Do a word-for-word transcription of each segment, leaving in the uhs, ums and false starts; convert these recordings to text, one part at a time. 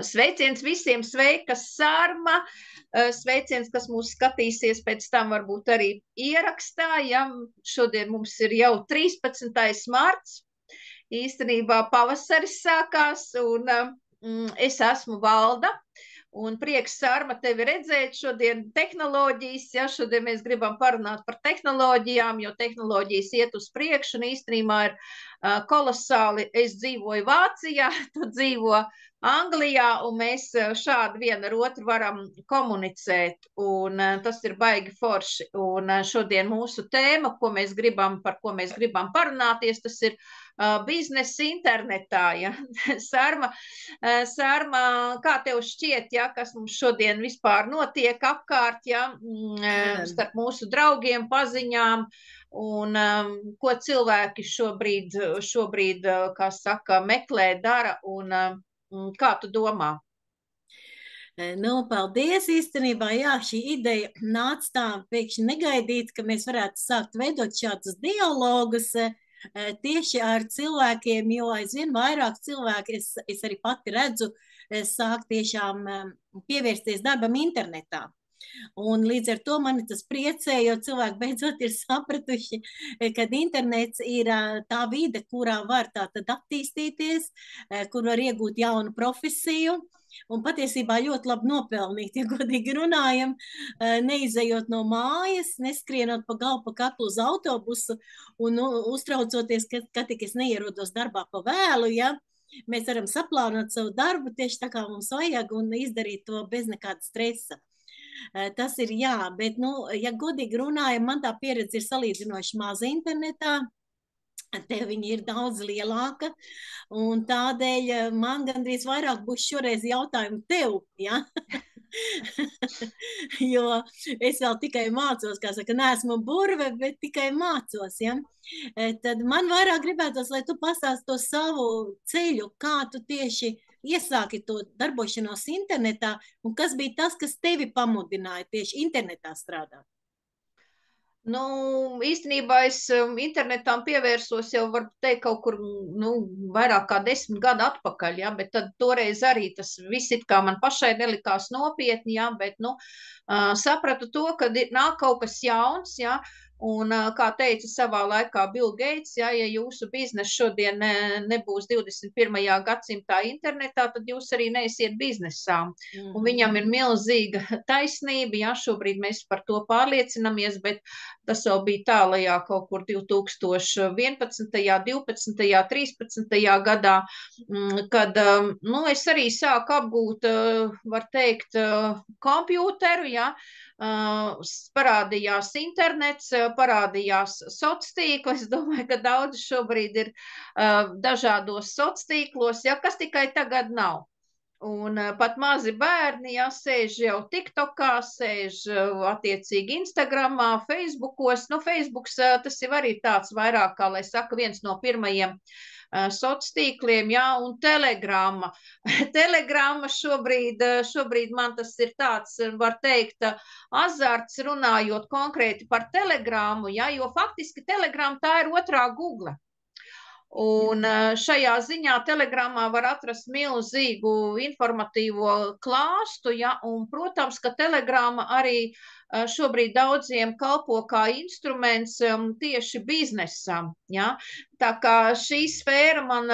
Sveiciens visiem, sveika Sarma, sveiciens, kas mūs skatīsies pēc tam varbūt arī ierakstā, ja šodien mums ir jau trīspadsmitais marts, īstenībā pavasaris sākās, un mm, es esmu Valda, un prieks, Sarma, tevi redzēt šodien tehnoloģijas, ja šodien mēs gribam parunāt par tehnoloģijām, jo tehnoloģijas iet uz priekšu, un īstenībā ir uh, kolosāli, es dzīvoju Vācijā, tu dzīvo Anglijā, un mēs šādi vien ar otru varam komunicēt, un uh, tas ir baigi forši, un uh, šodien mūsu tēma, ko mēs gribam, par ko mēs gribam parunāties, tas ir uh, biznesa internetā, ja, Sarma, uh, Sarma, kā tev šķiet, ja, kas mums šodien vispār notiek apkārt, ja, mm, starp mūsu draugiem, paziņām, un um, ko cilvēki šobrīd, šobrīd, kā saka, meklē, dara, un um, kā tu domā? Nu, paldies, īstenībā, jā, šī ideja nāca tā pēkšņi negaidīt, ka mēs varētu sākt veidot šādus dialogus tieši ar cilvēkiem, jo aizvien vairāk cilvēki, es, es arī pati redzu, sāk tiešām pievērsties darbam internetā. Un līdz ar to mani tas priecē, jo cilvēki beidzot ir sapratuši, ka internets ir tā vide, kurā var tātad attīstīties, kur var iegūt jaunu profesiju un patiesībā ļoti labi nopelnīt, ja godīgi runājam, neizejot no mājas, neskrienot pa galvu pa kaklu uz autobusu un nu, uztraucoties, ka, ka tik es neierodos darbā pa vēlu, ja, mēs varam saplānot savu darbu tieši tā kā mums vajag un izdarīt to bez nekāda stresa. Tas ir jā, bet, nu, ja godīgi runājam, man tā pieredze ir salīdzinoši maza internetā, te viņa ir daudz lielāka, un tādēļ man gandrīz vairāk būs šoreiz jautājumu tev, ja? Jo es vēl tikai mācos, kā saka, neesmu burve, bet tikai mācos, ja? Tad man vairāk gribētos, lai tu pastāsti to savu ceļu, kā tu tieši iesāki to darbošanos internetā, un kas bija tas, kas tevi pamudināja tieši internetā strādāt? Nu, īstenībā es internetām pievērsos jau, varu teikt, kaut kur, nu, vairāk kā desmit gadu atpakaļ, ja, bet tad toreiz arī tas viss it kā man pašai nelikās nopietni, ja, bet, nu, uh, sapratu to, ka nāk kaut kas jauns, ja, un, kā teica savā laikā Bill Gates, ja, ja jūsu biznesa šodien ne, nebūs divdesmit pirmajā gadsimtā internetā, tad jūs arī neesiet biznesā. Mm-hmm. Un viņam ir milzīga taisnība, ja, šobrīd mēs par to pārliecinamies, bet tas jau bija tālajā kaut kur divi tūkstoši vienpadsmitajā, divpadsmitajā, trīspadsmitajā gadā, kad, nu, es arī sāku apgūt, var teikt, kompjūteru, ja, parādījās internets, parādījās sociāltīkli. Es domāju, ka daudzi šobrīd ir uh, dažādos sociāltīklos, ja, kas tikai tagad nav. Un uh, pat mazi bērni, ja, sēž jau TikTokā, sēž uh, attiecīgi Instagramā, Facebookos. Nu, Facebooks uh, tas ir arī tāds vairāk, kā, lai saka, viens no pirmajiem uh, sociāltīkliem, ja, un Telegrama. Telegrama šobrīd, šobrīd man tas ir tāds, var teikt, azarts runājot konkrēti par Telegramu, ja, jo faktiski Telegrama tā ir otrā Google. Un šajā ziņā Telegramā var atrast milzīgu informatīvo klāstu, ja, un, protams, ka Telegrama arī šobrīd daudziem kalpo kā instruments tieši biznesam, ja. Tā kā šī sfēra man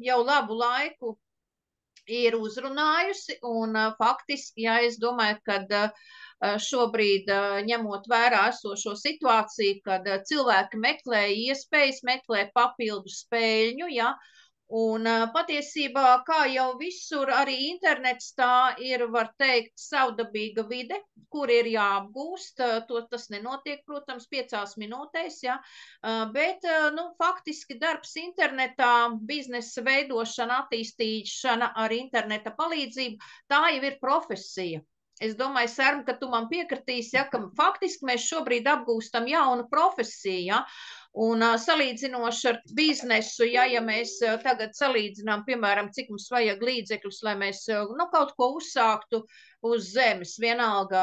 jau labu laiku ir uzrunājusi, un faktiski, ja, es domāju, kad šobrīd, ņemot vērā esošo situāciju, kad cilvēki meklē iespējas, meklē papildu spēļņu, ja, un patiesībā, kā jau visur, arī internets tā ir, var teikt, savdabīga vide, kur ir jāapgūst, to tas nenotiek, protams, piecās minūtēs, ja, bet, nu, faktiski darbs internetā, biznesa veidošana, attīstīšana ar interneta palīdzību, tā jau ir profesija. Es domāju, Sarma, ka tu man piekritīsi, ja, ka faktiski mēs šobrīd apgūstam jaunu profesiju, ja, un uh, salīdzinoši ar biznesu, ja, ja mēs uh, tagad salīdzinām, piemēram, cik mums vajag līdzekļus, lai mēs uh, nu, kaut ko uzsāktu, uz zemes, vienalga,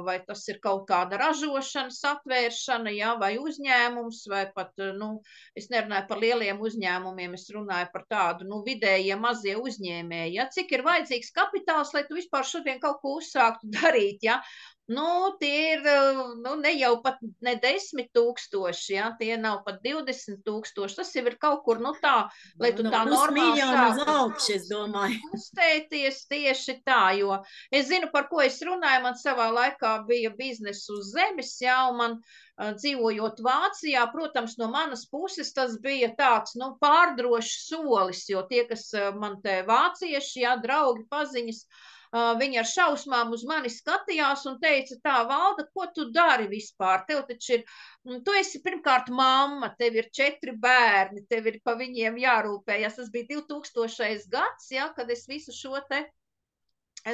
vai tas ir kaut kāda ražošanas atvēršana, ja, vai uzņēmums, vai pat, nu, es nerunāju par lieliem uzņēmumiem, es runāju par tādu, nu, vidējie mazie uzņēmēji, ja, cik ir vajadzīgs kapitāls, lai tu vispār šodien kaut ko uzsāktu darīt, ja. Nu, tie ir, nu, ne jau pat ne desmit tūkstoši, ja, tie nav pat divdesmit tūkstoši, tas jau ir kaut kur, nu, tā, lai tu no, tā normāli sāktu. Uz augšu, es domāju. Kustēties tieši tā, jo es zinu, par ko es runāju, man savā laikā bija biznes uz zemes, jā, un man uh, dzīvojot Vācijā, protams, no manas puses tas bija tāds, nu, pārdrošs solis, jo tie, kas uh, man te vācieši, jā, draugi, paziņas, Uh, viņi ar šausmām uz mani skatījās un teica, tā, Valda, ko tu dari vispār? Tev taču ir, tu esi pirmkārt mamma, tev ir četri bērni, tev ir pa viņiem jārūpējas. Tas bija divtūkstošais gads, ja, kad es visu šo te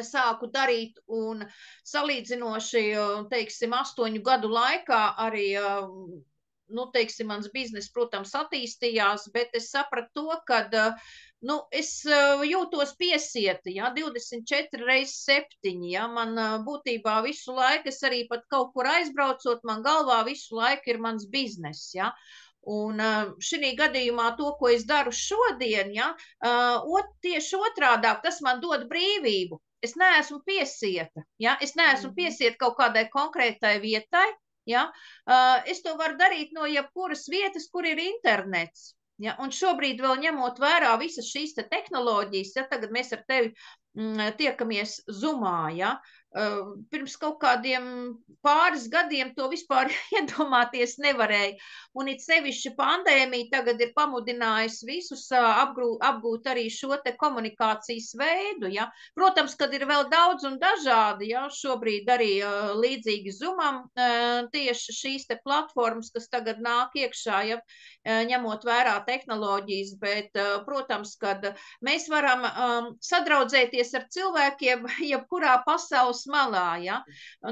sāku darīt un salīdzinoši, teiksim, astoņu gadu laikā arī, nu, teiksim, mans biznes, protams, attīstījās, bet es sapratu to, kad nu, es uh, jūtos piesieta, ja, divdesmit četri reizes septiņi, ja, man uh, būtībā visu laiku, es arī pat kaut kur aizbraucot, man galvā visu laiku ir mans biznes, ja, un uh, šī gadījumā to, ko es daru šodien, ja, uh, ot, tieši otrādāk, tas man dod brīvību, es neesmu piesieta, ja, es neesmu piesieta kaut kādai konkrētai vietai, ja, uh, es to varu darīt no jebkuras vietas, kur ir internets. Ja, un šobrīd vēl ņemot vērā visas šīs te tehnoloģijas, ja tagad mēs ar tevi mm, tiekamies Zoomā, ja, uh, pirms kaut kādiem pāris gadiem to vispār iedomāties nevarēja. Un it sevišķi pandēmija tagad ir pamudinājusi visus uh, apgrū, apgūt arī šo te komunikācijas veidu. Ja. Protams, kad ir vēl daudz un dažādi, ja, šobrīd arī uh, līdzīgi Zoomam uh, tieši šīs te platformas, kas tagad nāk iekšā, ja, uh, ņemot vērā tehnoloģijas, bet, uh, protams, kad mēs varam um, sadraudzēties ar cilvēkiem jebkurā pasaules malā, ja.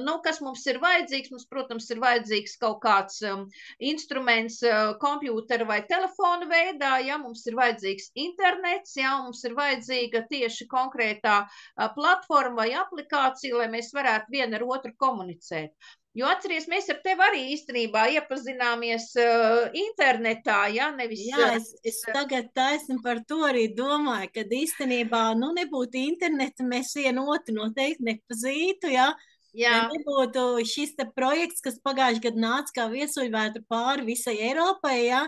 Nu, kas mums ir vajadzīgs? Mums, protams, ir vajadzīgs kaut kāds um, instruments uh, kompjūtera vai telefona veidā, ja, mums ir vajadzīgs internets, ja, mums ir vajadzīga tieši konkrētā uh, platforma vai aplikācija, lai mēs varētu vienu ar otru komunicēt. Jo atceries, mēs ar tevi arī īstenībā iepazināmies uh, internetā, ja, nevis... Jā, es, es tagad taisni par to arī domāju, kad īstenībā, nu, nebūtu interneta, mēs vienu otru noteikti nepazītu, ja. Jā. Nebūtu šis te projekts, kas pagājuši gadu nāca kā viesuļvētra pāri visai Eiropai, ja,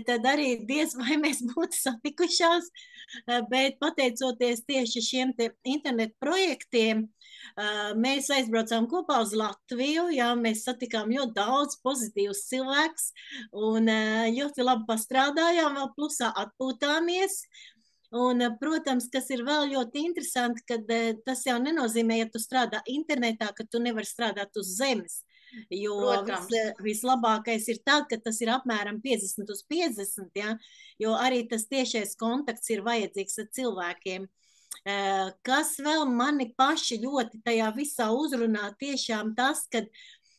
tad arī diez vai mēs būtu satikušās, bet pateicoties tieši šiem te internetu projektiem, mēs aizbraucām kopā uz Latviju, jā, mēs satikām ļoti daudz pozitīvus cilvēkus un ļoti labi pastrādājām, vēl plusā atpūtāmies. Un, protams, kas ir vēl ļoti interesanti, kad tas jau nenozīmē, ja tu strādā internetā, ka tu nevari strādāt uz zemes. Jo vis, vislabākais ir tad, ka tas ir apmēram piecdesmit uz piecdesmit, ja? Jo arī tas tiešais kontakts ir vajadzīgs ar cilvēkiem. Kas vēl mani paši ļoti tajā visā uzrunā, tiešām tas, kad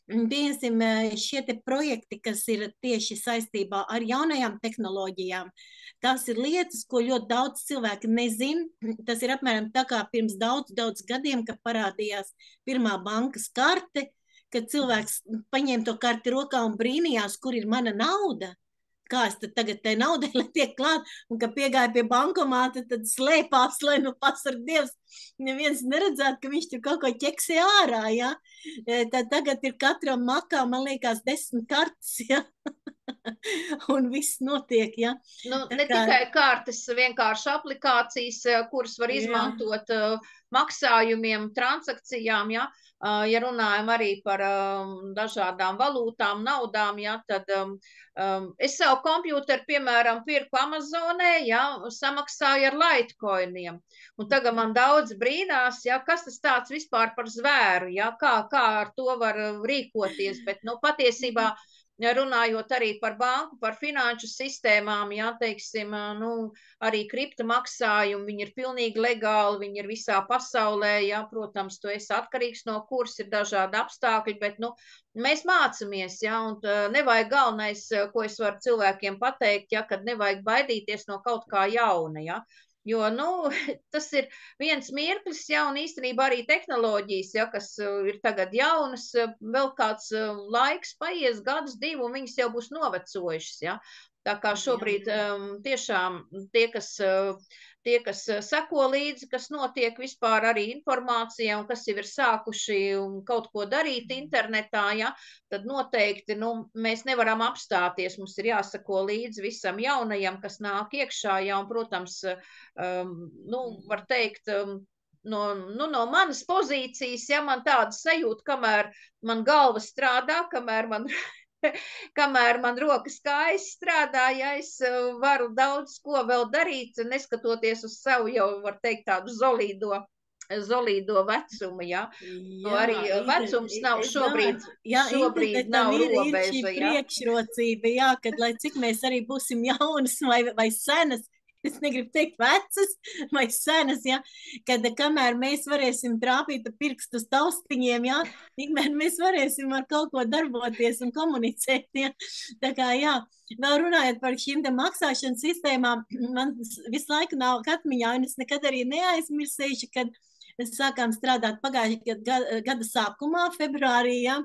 piemēram šie te projekti, kas ir tieši saistībā ar jaunajām tehnoloģijām, tas ir lietas, ko ļoti daudz cilvēki nezin. Tas ir apmēram tā kā pirms daudz, daudz gadiem, kad parādījās pirmā bankas karte, kad cilvēks paņēma to karti rokā un brīnījās, kur ir mana nauda. Kā es tad tagad tai naudai, lai tiek klāt, un kad piegāja pie bankomāta, tad slēpās, lai nu pasarg Dievs, neviens neredzētu, ka viņš tur kaut ko ķeksē ārā, ja. Tad tagad ir katram makā, man liekas, desmit kartes, ja. Un viss notiek, ja. Nu, ne kā... tikai kartes, vienkārši aplikācijas, kuras var izmantot uh, maksājumiem, transakcijām, ja. Uh, ja runājam arī par um, dažādām valūtām, naudām, ja, tad um, um, es savu kompjūteru, piemēram, pirku Amazonē, ja, samaksāju ar Litecoiniem. Un tagad man daudz brīnās, ja, kas tas tāds vispār par zvēru, ja, kā, kā ar to var rīkoties, bet, nu, patiesībā runājot arī par banku, par finanšu sistēmām, jā, teiksim, nu, arī kripta maksājumi, viņi ir pilnīgi legāli, viņi ir visā pasaulē, jā, protams, tu esi atkarīgs no kursa, ir dažādi apstākļi, bet, nu, mēs mācamies, jā, un nevajag galvenais, ko es varu cilvēkiem pateikt, jā, kad nevajag baidīties no kaut kā jauna, jā. Jo, nu, tas ir viens mirklis, ja, un īstenībā arī tehnoloģijas, ja, kas ir tagad jaunas, vēl kāds laiks paies, gadus, divu, un viņas jau būs novecojušas, ja. Tā kā šobrīd um, tiešām tie, kas, tie, kas seko līdzi, kas notiek vispār arī informācijā un kas jau ir sākuši kaut ko darīt internetā, ja, tad noteikti nu, mēs nevaram apstāties. Mums ir jāsako līdzi visam jaunajam, kas nāk iekšā, ja, un, protams, um, nu, var teikt, um, no, nu, no manas pozīcijas, ja man tāda sajūta, kamēr man galva strādā, kamēr man kamēr man rokas kājas strādā, ja es varu daudz ko vēl darīt, neskatoties uz savu jau, var teikt, tādu zolīdo, zolīdo vecumu, ja. Jā, arī vecums nav šobrīd, jā, šobrīd nav ir, robeža, ir šī ja. priekšrocība, jā, kad lai cik mēs arī būsim jaunas vai, vai senas, es negribu teikt vecas vai senas, ja, kad kamēr mēs varēsim trāpīt pirkstus taustiņiem, ja, tikmēr mēs varēsim ar kaut ko darboties un komunicēt, ja. Tā kā, jā, vēl runājot par šīm te maksāšanas sistēmām, man visu laiku nav atmiņā, un es nekad arī neaizmirsīšu, kad mēs sākām strādāt pagājušajā gada, gada sākumā, februārī, ja,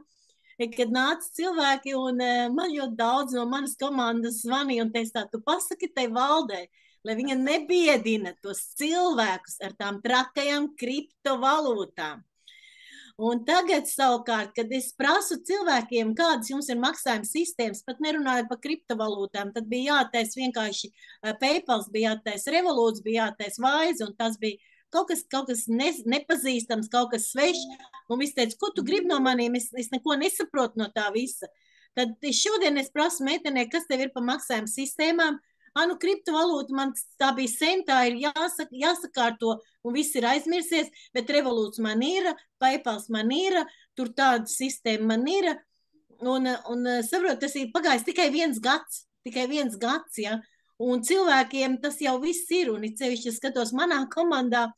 kad nāca cilvēki, un man ļoti daudz no manas komandas zvanīja un teica tā, tu pasaki tai valdei, lai viņa nebiedina tos cilvēkus ar tām trakajām kriptovalūtām. Un tagad savukārt, kad es prasu cilvēkiem, kādas jums ir maksājuma sistēmas, pat nerunāju par kriptovalūtām, tad bija jātais vienkārši PayPals, bija jātais Revolūts, bija jātais Wise, un tas bija kaut kas, kaut kas ne, nepazīstams, kaut kas svešs, un viss teica, ko tu gribi no maniem, es, es neko nesaprotu no tā visa. Tad šodien es prasu meitenē, kas tev ir pa maksājuma sistēmām, ah, nu, kriptovalūta man tā bija sen, tā ir jāsaka, jāsakārto, un viss ir aizmirsies, bet Revolūts man ir, PayPals man ir, tur tāda sistēma man ir, un, un saprot, tas ir pagājis tikai viens gads, tikai viens gads, ja, un cilvēkiem tas jau viss ir, un it sevišķi, es skatos manā komandā,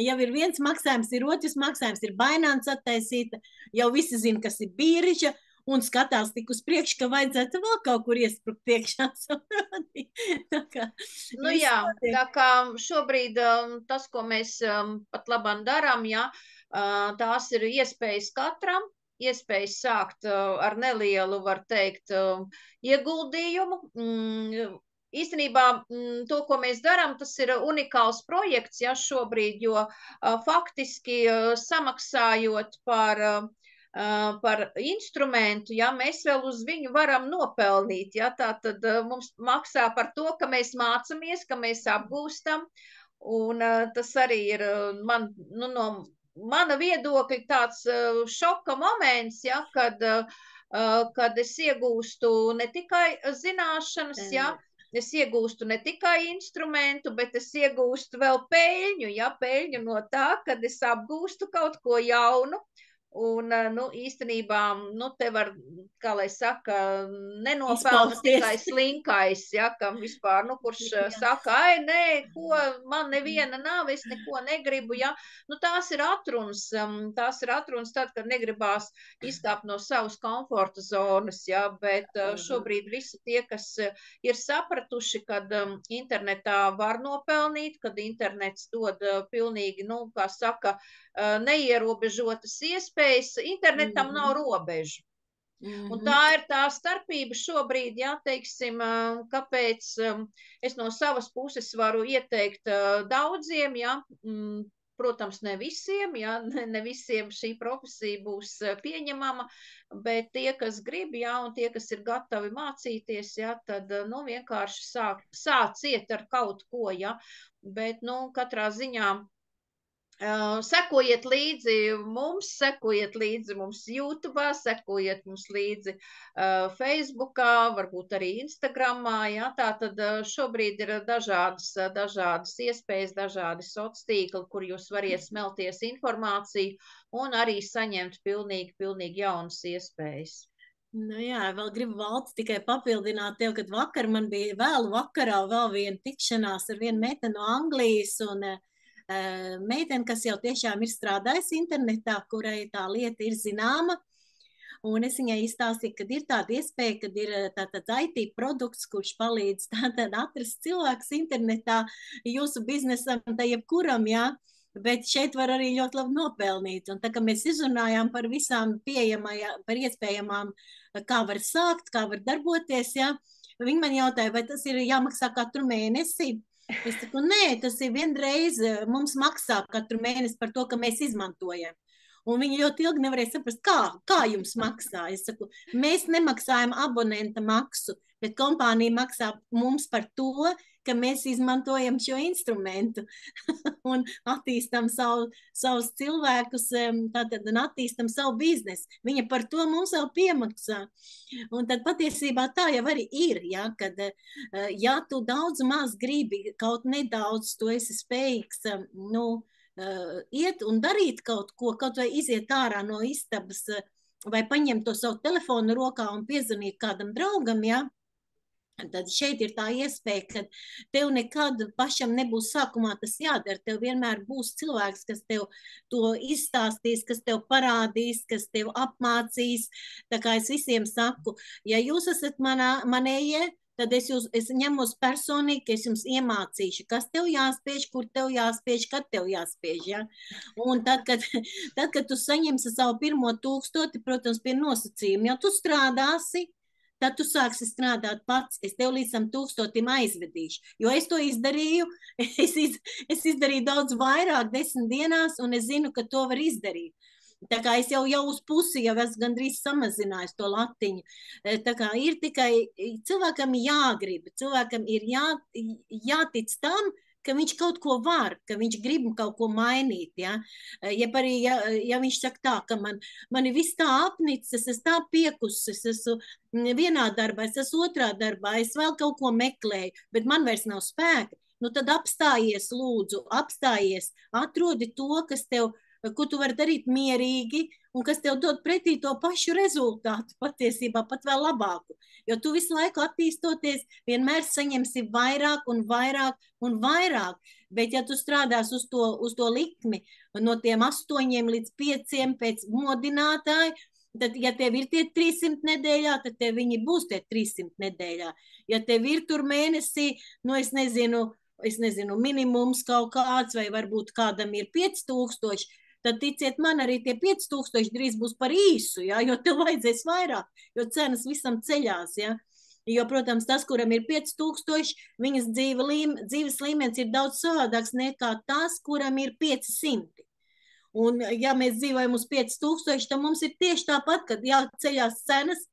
jau ir viens maksājums, ir otrs maksājums, ir Binance attaisīta, jau visi zina, kas ir birža, un skatās tik uz priekšu, ka vajadzētu vēl kaut kur iesprukt iekšā. Tā kā, nu jā, tā kā šobrīd tas, ko mēs pat labāk darām, jā, tās ir iespējas katram, iespējas sākt ar nelielu, var teikt, ieguldījumu. Īstenībā to, ko mēs darām, tas ir unikāls projekts, ja, šobrīd, jo faktiski samaksājot par par instrumentu, ja, mēs vēl uz viņu varam nopelnīt, ja, tā tad mums maksā par to, ka mēs mācamies, ka mēs apgūstam, un tas arī ir man, nu, no mana viedokļa tāds šoka moments, ja, kad, kad es iegūstu ne tikai zināšanas, ja, es iegūstu ne tikai instrumentu, bet es iegūstu vēl peļņu, ja, peļņu no tā, kad es apgūstu kaut ko jaunu. Un, nu, īstenībā, nu, te var, kā lai saka, nenopelna tikai slinkais, ja, kam vispār, nu, kurš saka, ai, nē, ko, man neviena nav, es neko negribu, ja, nu, tās ir atrunas, tās ir atrunas tad, kad negribās izkāpt no savas komforta zonas, ja, bet šobrīd visi tie, kas ir sapratuši, kad internetā var nopelnīt, kad internets dod pilnīgi, nu, kā saka, neierobežotas iespējas, internetam nav robežu. Mm-hmm. Un tā ir tā starpība šobrīd, jā, teiksim, kāpēc es no savas puses varu ieteikt daudziem, jā, protams, ne visiem, jā, ne visiem šī profesija būs pieņemama, bet tie, kas grib, jā, un tie, kas ir gatavi mācīties, jā, tad, nu, vienkārši sāk, sāciet ar kaut ko, jā, bet, nu, katrā ziņā Uh, sekojiet līdzi mums, sekojiet līdzi mums YouTube, sekojiet mums līdzi uh, Facebookā, varbūt arī Instagramā, ja, tā tad uh, šobrīd ir dažādas, dažādas iespējas, dažādi sociāli tīkli, kur jūs variet smelties informāciju un arī saņemt pilnīgi, pilnīgi jaunas iespējas. Nu jā, vēl gribu valsts tikai papildināt tev, kad vakar man bija vēlu vakarā vēl viena tikšanās ar vienu meiteni no Anglijas un uh, meiteni, kas jau tiešām ir strādājusi internetā, kurai tā lieta ir zināma. un es viņai izstāstīju, ka ir tāda iespēja, kad ir tātad I T produkts, kurš palīdz tātad atrast cilvēkus internetā jūsu biznesam, tā jebkuram, jā, bet šeit var arī ļoti labi nopelnīt. Un tā kā mēs izrunājām par visām pieejamajām, par iespējamām, kā var sākt, kā var darboties, jā, viņi man jautāja, vai tas ir jāmaksā katru mēnesi? Es saku, nē, tas ir vienreiz, mums maksā katru mēnesi par to, ka mēs izmantojam. Un viņi ļoti ilgi nevarēja saprast, kā, kā jums maksā. Es saku, mēs nemaksājam abonenta maksu, bet kompānija maksā mums par to, ka mēs izmantojam šo instrumentu un attīstam savu, savus cilvēkus, tātad un attīstam savu biznesu. Viņa par to mums vēl piemaksā. Un tad patiesībā tā jau arī ir, ja, kad, ja tu daudz maz gribi, kaut nedaudz tu esi spējīgs, nu, iet un darīt kaut ko, kaut vai iziet ārā no istabas, vai paņemt to savu telefonu rokā un piezvanīt kādam draugam, ja, tad šeit ir tā iespēja, ka tev nekad pašam nebūs sākumā tas jādara. Tev vienmēr būs cilvēks, kas tev to izstāstīs, kas tev parādīs, kas tev apmācīs. Tā kā es visiem saku, ja jūs esat manā, manējie, tad es, jūs, es ņemos personīgi, ka es jums iemācīšu, kas tev jāspiež, kur tev jāspiež, kad tev jāspiež. Ja? Un tad kad, tad, kad tu saņemsi savu pirmo tūkstoti, protams, pie nosacījuma, ja tu strādāsi, tad tu sāksi strādāt pats. Es tev līdz tam tūkstotim aizvedīšu. Jo es to izdarīju, es, iz, es izdarīju daudz vairāk desmit dienās, un es zinu, ka to var izdarīt. Tā kā es jau, jau uz pusi jau esmu gandrīz samazinājis to latiņu. Tā kā ir tikai cilvēkam jāgrib, cilvēkam ir jā, jātic tam, ka viņš kaut ko var, ka viņš grib kaut ko mainīt, ja, ja, arī, ja, ja viņš saka tā, ka man, man ir viss tā apnicis, es esmu tā piekusis, es esmu vienā darbā, es esmu otrā darbā, es vēl kaut ko meklēju, bet man vairs nav spēka, nu tad apstājies lūdzu, apstājies, atrodi to, kas tev, ko tu vari darīt mierīgi, un kas tev dod pretī to pašu rezultātu, patiesībā pat vēl labāku. Jo tu visu laiku attīstoties, vienmēr saņemsi vairāk un vairāk un vairāk. Bet ja tu strādās uz to, uz to likmi, no tiem astoņiem līdz pieciem pēc modinātāja, tad, ja tev ir tie trīssimt nedēļā, tad tev viņi būs tie trīssimt nedēļā. Ja tev ir tur mēnesī, nu es nezinu, es nezinu, minimums kaut kāds, vai varbūt kādam ir pieci tūkstoši, tad ticiet man, arī tie pieci tūkstoši drīz būs par īsu, ja, jo tev vajadzēs vairāk, jo cenas visam ceļās. Ja. Jo, protams, tas, kuram ir pieci tūkstoši, viņas dzīve līme, dzīves līmenis ir daudz savādāks nekā tas, kuram ir pieci simti. Un, ja mēs dzīvojam uz pieci tūkstoši, tad mums ir tieši tāpat, kad jāceļās cenas,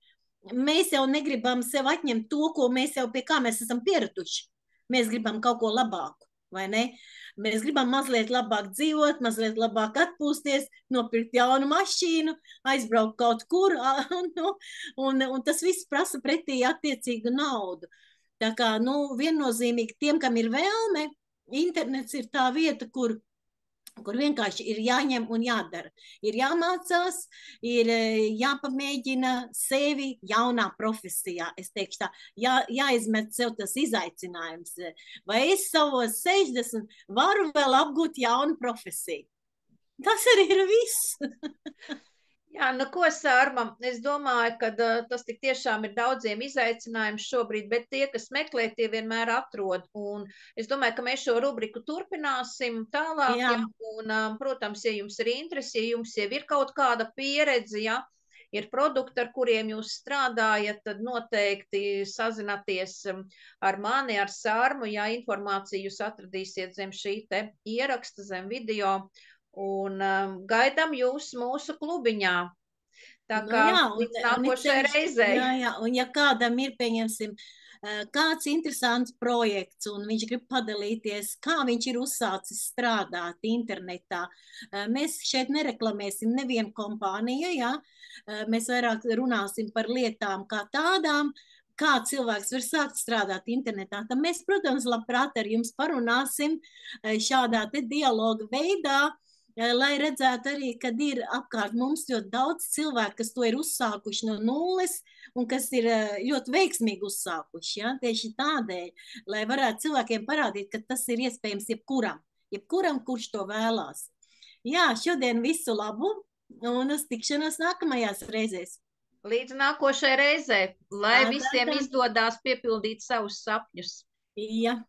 mēs jau negribam sev atņemt to, ko mēs jau pie kā mēs esam pieraduši. Mēs gribam kaut ko labāku, vai ne? Mēs gribam mazliet labāk dzīvot, mazliet labāk atpūsties, nopirkt jaunu mašīnu, aizbraukt kaut kur, un, un, un tas viss prasa pretī attiecīgu naudu. Tā kā, nu, viennozīmīgi tiem, kam ir vēlme, internets ir tā vieta, kur kur vienkārši ir jāņem un jādara. Ir jāmācās, ir jāpamēģina sevi jaunā profesijā. Es teikšu tā, jā, jāizmet sev tas izaicinājums. Vai es savos sešdesmit varu vēl apgūt jaunu profesiju? Tas arī ir viss. Jā, nu ko, Sārma, es domāju, ka uh, tas tik tiešām ir daudziem izaicinājums šobrīd, bet tie, kas meklē, tie vienmēr atrod. Un es domāju, ka mēs šo rubriku turpināsim tālāk. Jā. Jā, un, um, protams, ja jums ir interesi, ja jums jau ir kaut kāda pieredze, ja ir produkti, ar kuriem jūs strādājat, tad noteikti sazināties ar mani, ar Sārmu. Ja informāciju jūs atradīsiet zem šī te ieraksta, zem video. Un um, gaidām jūs mūsu klubiņā. Tā kā nu jā, un, līdz nākošajai reizei. Jā, jā, un ja kādam ir, pieņemsim, kāds interesants projekts, un viņš grib padalīties, kā viņš ir uzsācis strādāt internetā, mēs šeit nereklamēsim nevienu kompāniju, jā, mēs vairāk runāsim par lietām kā tādām, kā cilvēks var sākt strādāt internetā. Tad mēs, protams, labprāt ar jums parunāsim šādā te dialoga veidā, lai redzētu arī, kad ir apkārt mums ļoti daudz cilvēku, kas to ir uzsākuši no nulles un kas ir ļoti veiksmīgi uzsākuši. Ja? Tieši tādēļ, lai varētu cilvēkiem parādīt, ka tas ir iespējams jebkuram, jebkuram, kurš to vēlās. Jā, šodien visu labu un uz tikšanos nākamajās reizēs. Līdz nākošai reizei, lai Tā, tā, visiem tā. izdodās piepildīt savus sapņus. Ja.